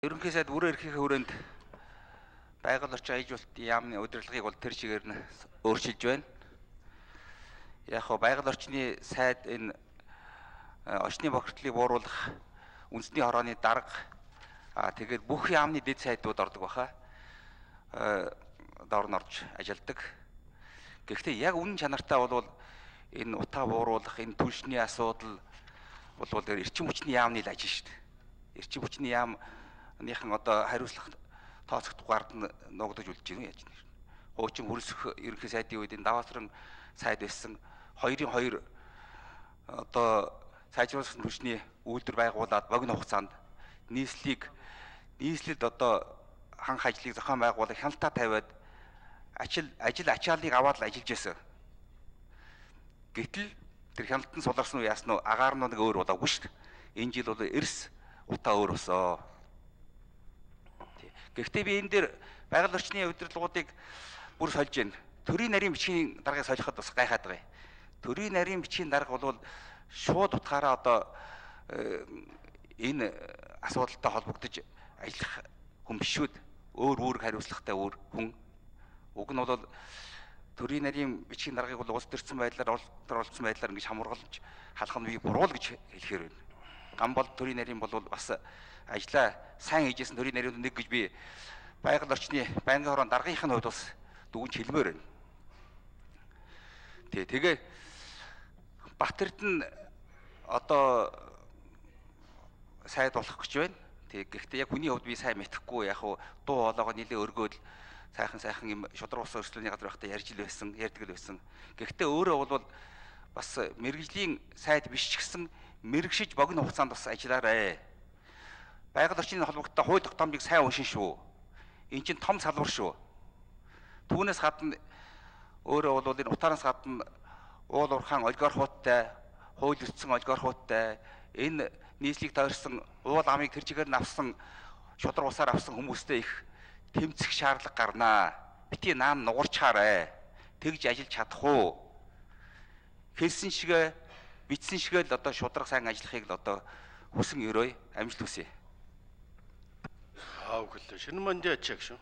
Ерөнхий сайд бүрэн эрхийнхээ хүрээнд байгаль орчин аюултын яамны удирдлагыг бол тэр чигээр нь өөрчилж байна. Яг хоо байгаль орчны сайд энэ очны бохирдлыг бууруулах үндэсний хорооны дарга тэгээд бүх яамны дэд сайдууд ордог баха. Доор нь орж ажилладаг. Гэхдээ яг үнэн чанартай бол энэ утаа бууруулах, энэ түлшний асуудал бол эрчим хүчний яамны л ажил шүү дээ. Эрчим хүчний яамныхан одоо хариуцлага тооцох дугаард нь ногдож үлдэж байна яаж нэр. Хуучин хөрсөх ерөнхий сайдын үед энэ даваасран сайд байсан 2-2 одоо сайжруулсан түлшний үйлдвэр байгуулад богино хугацаанд нийслэлд одоо ханх ажлыг зохион байгуулах хяналтаа тавиад ажил ачааллыг аваад л ажиллаж байсан. Гэтэл тэр хяналтан суларсан уу яасан уу агаар нь нэг өөр болоогүй шүү дээ. Энэ жил бол эрс утаа өөр болсоо. Гэхдээ би энэ дээр байгаль орчны удирдлагуудыг бүр сольж байна. Төрийн нарийн бичгийн даргаыг солиход бас гайхаад байгаа юм. Төрийн нарийн бичгийн дарга бол шууд утгаараа одоо энэ асуудалтай холбогдож ажиллах хүн биш шүү. Өөр хариуцлагатай хүн. Уг нь бол төрийн нарийн бичгийн даргаыг бол улс төрсөн байдлаар олдсон байдлаар ингэж хамруулж халах нь би буруу л гэж хэлэхээр байна. Ган бол төрийн нарийн бол бас ажлаа сайн хийжсэн төрийн нарийн нэг гэж би байгаль орчны байнгын хорон даргийнхын хувьд бас дүгнж хэлмээр байна. Тэгээ Батэрд нь одоо сайд болох гэж байна. Гэхдээ яг хүний хувьд би сайн мэдэхгүй яг дуу хоолойгоо нэлээ өргөөл сайхан юм шудраг ус өрсөлдөөний газар байхдаа ярьдаг л байсан. Гэхдээ өөрөө бол бас мэрэгжлийн сайд биш ч гэсэн мэрэгшиж богино хугацаанд бас ажиллаарай. Байгаль орчны холбогдолтой хууль тогтоомжийг сайн уншин шүү. Энд чинь том салбар шүү. Түүнээс гадна өөрөө бол энэ утаараас гадна уул уурхаан олигархуудтай, хууль эрхцэн олигархуудтай, энэ нийслэлийг тойрсон уул амыг тэр чигээр нь авсан шудраг усаар авсан хүмүүстэй их тэмцэх шаардлага гарнаа. Бити наан нугарчхаарай. Тэгж ажиллаж чадах уу? Хэлсэн шигээ, бичсэн шигээ л одоо шудраг сайн ажиллахыг л одоо хүсэн өрөө амжилт хүсье. Шинэ мандат чиг шүү.